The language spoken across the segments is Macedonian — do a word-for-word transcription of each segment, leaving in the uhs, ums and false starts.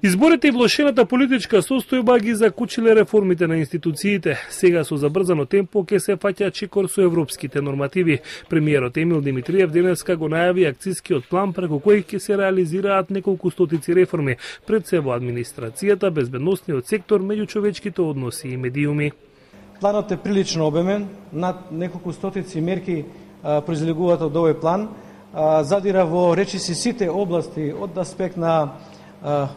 Изборите и влошената политичка состојба ги закучиле реформите на институциите. Сега со забрзано темпо ќе се фаќа чекор со европските нормативи. Премиерот Емил Димитриев денеска го најави акцискиот план преку кој ќе се реализираат неколку стотици реформи, пред се во администрацијата, безбедносниот сектор, меѓучовечките односи и медиуми. Планот е прилично обемен, над неколку стотици мерки а, произлегуваат од овој план, а, задира во речиси сите области од аспект на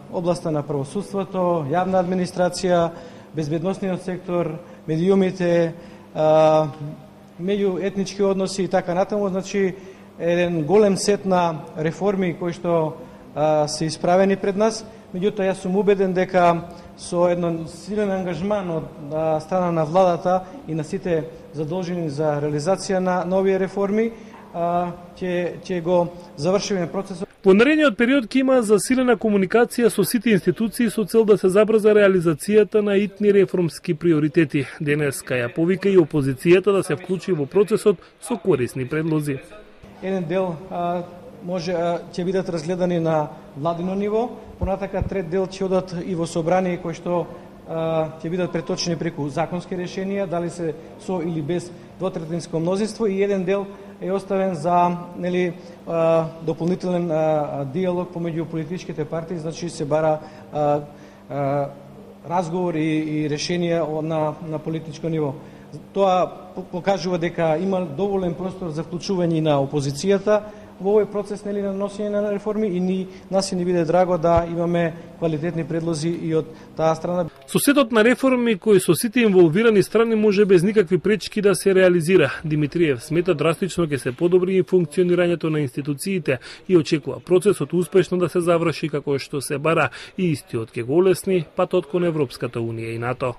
областа на правосудството, јавна администрација, безбедносниот сектор, медиумите, меѓуетнички односи и така натаму, значи еден голем сет на реформи кои што се исправени пред нас. Меѓутоа јас сум убеден дека со еден силен ангажман од страна на владата и на сите задолжени за реализација на нови реформи ќе ќе го завршиме процесот. Во наредниот период ќе има засилена комуникација со сите институции со цел да се забрза реализацијата на итни реформски приоритети. Денеска ја повика и опозицијата да се вклучи во процесот со корисни предлози. Еден дел а, може а, ќе бидат разгледани на владино ниво, понатака трет дел ќе одат и во собрание кои што ќе бидат преточени преку законски решенија, дали се со или без двотретинско мнозинство, и еден дел е оставен за нели дополнителен диалог помеѓу политичките партии, значи се бара а, а, разговор и, и решенија на на политичко ниво. Тоа покажува дека има доволен простор за вклучување на опозицијата во овој процес нели на носење на реформи, и ни нас ни биде драго да имаме квалитетни предлози и од таа страна. Со сетот на реформи кои со сите инволвирани страни може без никакви пречки да се реализира, Димитриев смета драстично ќе се подобри и функционирањето на институциите и очекува процесот успешно да се заврши како што се бара, и истиот ќе го олесни патот кон Европската унија и НАТО.